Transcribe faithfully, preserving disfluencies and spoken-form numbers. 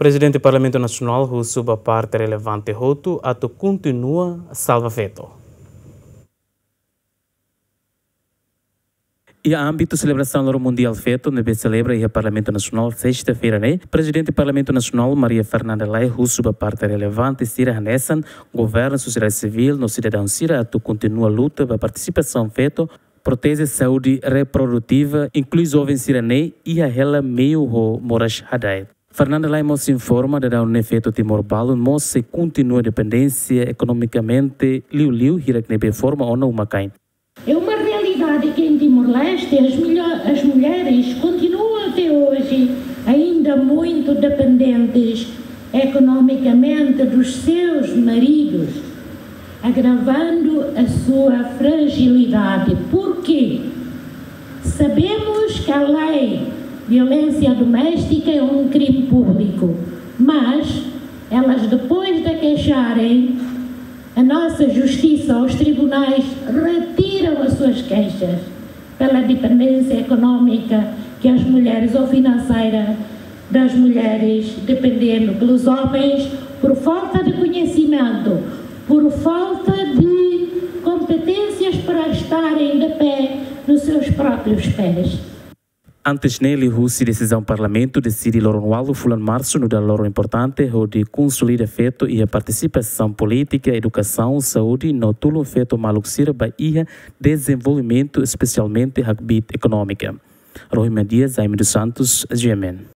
Prezidente Parlamentu Nasionál husu ba parte relevante hotu atu kontinua salva feto. Iha ámbitu selebrasaun Loron Mundiál Feto ne'ebé selebra iha Parlamentu Nasionál sesta-feira ne'e, Prezidente Parlamentu Nasionál Maria Fernanda Lay husu ba parte relevante sira hanesan governu, sosiedade sivíl no sidadaun sira atu kontinua luta ba partisipasaun feto, proteje saúde reprodutiva, inklui joven sira-ne'e iha hela meiu ho moras hada'et. Fernanda Lay mós informa daudaun ne'e feto Timor balun mós sei kontinua dependénsia ekonomikamente liuliu hirak ne'ebé forma ona uma-kain. É uma realidade que em Timor-Leste as, milho- as mulheres continuam até hoje ainda muito dependentes economicamente dos seus maridos, agravando a sua fragilidade. Porquê? Sabemos que a lei de violência doméstica é um crime público, mas elas, depois de queixarem, a nossa justiça, os tribunais retiram as suas queixas pela dependência económica que as mulheres, ou financeira das mulheres, dependendo pelos homens, por falta de conhecimento, por falta de competências para estarem de pé nos seus próprios pés. Antes ne'e, liuhusi desizaun Parlamentu deside loron ualu fulan Marsu nu'udar loron importante hodi konsolida feto iha partisipasaun polítika, edukasaun, saúde no tulun feto maluk sira ba iha dezenvolvimentu, espesialmente hakbiit ekonómika. Rohima Dias, Jaime dos Santos, G M N.